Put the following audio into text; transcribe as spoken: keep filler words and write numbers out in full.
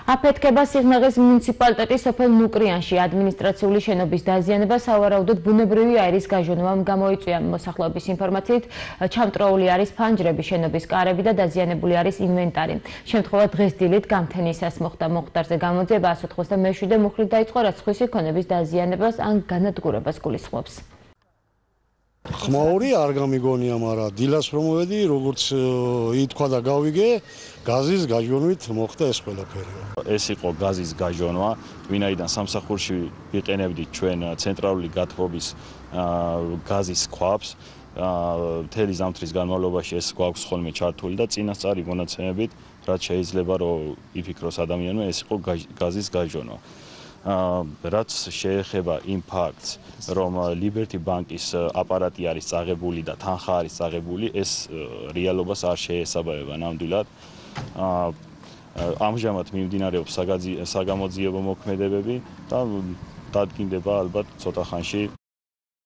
აფეთქება სიღნაღის მუნიციპალიტეტის სოფელ ნუკრიანში ადმინისტრაციული შენობის დაზიანება სავარაუდოდ ბუნებრივი აირის გაჟონვამ გამოიწვია. მოსახლეობის ინფორმაციით ჩამტროული არის ფანჯრები, შენობის კარები და დაზიანებული არის ინვენტარი. შემთხვევა დღეს დილით გამთენისას მოხდა. მოხდარზე გამოძიება εκατს ოცდაშვიდ მუხლით დაიწყო, რაც სხვისი ქონების დაზიანებას ან განადგურებას გულისხმობს. ხმაური არ გამიგონია, მაგრამ დილას რომ მოვედი, როგორც ითქვა და გავიგე, გაზის გაჟონვით მოხდა ეს ყველაფერი. ეს იყო გაზის გაჟონვა, ვინაიდან სამსახურში ვიყენებდით ჩვენ ცენტრალური გათბობის გაზის ქვაბს. მთელი ზამთრის განმავლობაში ეს გვაქვს ხოლმე ჩართული და წინასწარი მონაცემებით, რაც შეიძლება რომ იფიქროს ადამიანმა, ეს იყო გაზის გაჟონვა. რაც შეეხება იმ ფაქტს, რომ Liberty Bank-ის აპარატი არის წაღებული და თანხა არის წაღებული, ეს რეალობას არ შეესაბამება ნამდვილად. ამჟამად მიმდინარეობს საგამოძიებო მოქმედებები და დადგინდება ალბათ ცოტა ხანში